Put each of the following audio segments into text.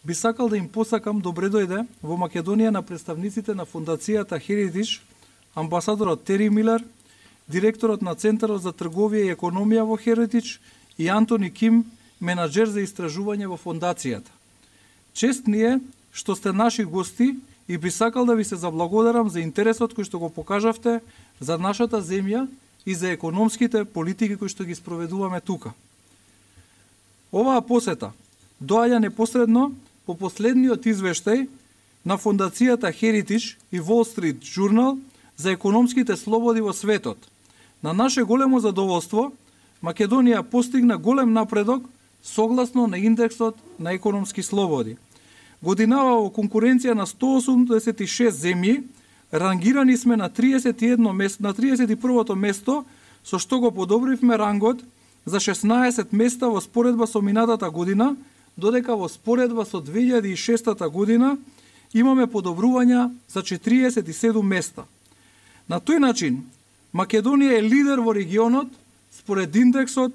би сакал да им посакам добре дојде во Македонија на представниците на фондацијата Heritage, амбасадорот Тери Милер, директорот на Центарот за трговија и економија во Heritage и Антони Ким, менаџер за истражување во фондацијата. Чест ни е што сте наши гости и би сакал да ви се заблагодарам за интересот кој што го покажавте за нашата земја и за економските политики кои што ги спроведуваме тука. Оваа посета доаѓа непосредно по последниот извештај на фондацијата Heritage и Wall Street Journal за економските слободи во светот. На наше големо задоволство, Македонија постигна голем напредок согласно на индексот на економски слободи. Годинава во конкуренција на 186 земји, рангирани сме на 31 место, на 31-то место, со што го подобривме рангот за 16 места во споредба со минатата година, додека во споредба со 2006 година имаме подобрувања за 47 места. На тој начин, Македонија е лидер во регионот според индексот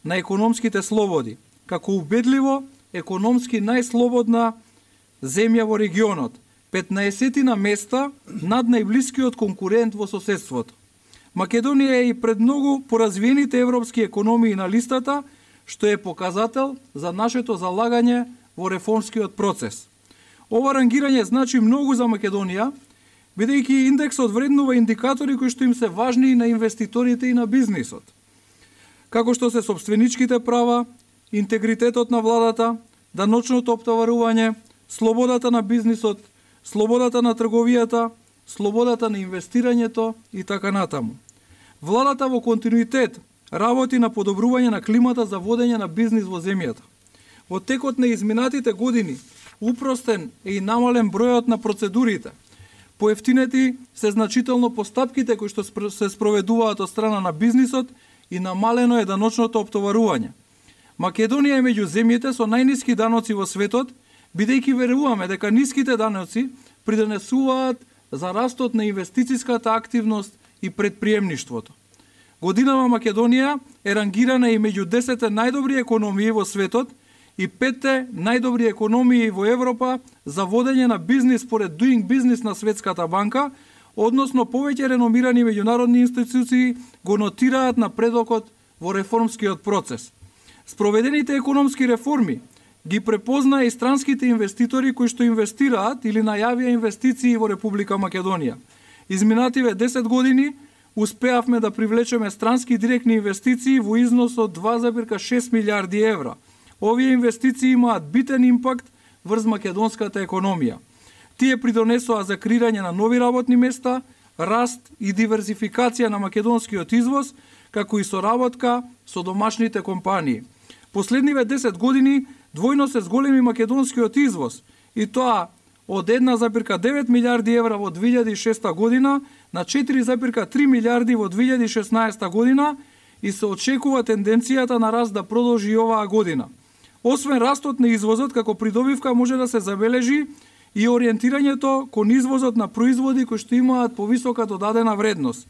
на економските слободи, како убедливо економски најслободна земја во регионот, 15 на места над најблискиот конкурент во соседството. Македонија е и пред многу поразвиените европски економии на листата, што е показател за нашето залагање во реформскиот процес. Ова рангирање значи многу за Македонија, бидејќи индексот вреднува индикатори кои што им се важни и на инвеститорите и на бизнисот, како што се сопственичките права, интегритетот на владата, даночното оптоварување, слободата на бизнисот, слободата на трговијата, слободата на инвестирањето и така натаму. Владата во континуитет работи на подобрување на климата за водење на бизнис во земјата. Во текот на изминатите години упростен е и намален бројот на процедурите. Поевтинети се значително постапките кои што се спроведуваат од страна на бизнисот и намалено е даночното оптоварување. Македонија е меѓу земјите со најниски даноци во светот, бидејќи веруваме дека ниските даноци придонесуваат за растот на инвестицијската активност и предприемништвото. Годинава Македонија е рангирана и меѓу 10 најдобри економии во светот и 5 најдобри економии во Европа за водење на бизнис според Doing Business на Светската банка, односно повеќе реномирани меѓународни институции го нотираат напредокот во реформскиот процес. Спроведените економски реформи ги препозна и странските инвеститори кои што инвестираат или најавија инвестиции во Република Македонија. Изминативе 10 години успеавме да привлечеме странски директни инвестиции во износ од 2,6 милиарди евра. Овие инвестиции имаат битен импакт врз македонската економија. Тие придонесоа за креирање на нови работни места, раст и диверзификација на македонскиот извоз, како и соработка со домашните компании. Последниве 10 години двојно се зголеми македонскиот извоз, и тоа од 1,9 милиарди евра во 2006 година на 4,3 милиарди во 2016 година и се очекува тенденцијата на раст да продолжи и оваа година. Освен растот на извозот, како придобивка може да се забележи и ориентирањето кон извозот на производи кои што имаат повисока додадена вредност.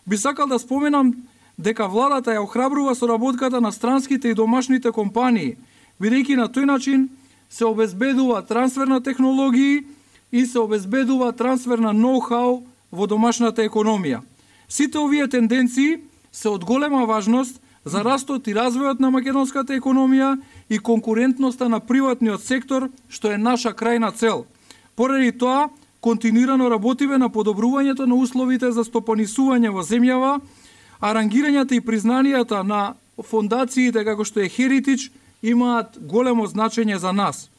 Би сакал да споменам дека владата ја охрабрува соработката на странските и домашните компании, бидејќи на тој начин се обезбедува трансфер на технологии и се обезбедува трансфер на ноу-хау во домашната економија. Сите овие тенденции се од голема важност за растот и развојот на македонската економија и конкурентноста на приватниот сектор, што е наша крајна цел. Поради тоа, континуирано работиме на подобрувањето на условите за стопанисување во земјава, а рангирањата и признанијата на фондациите како што е Heritage имаат големо значење за нас.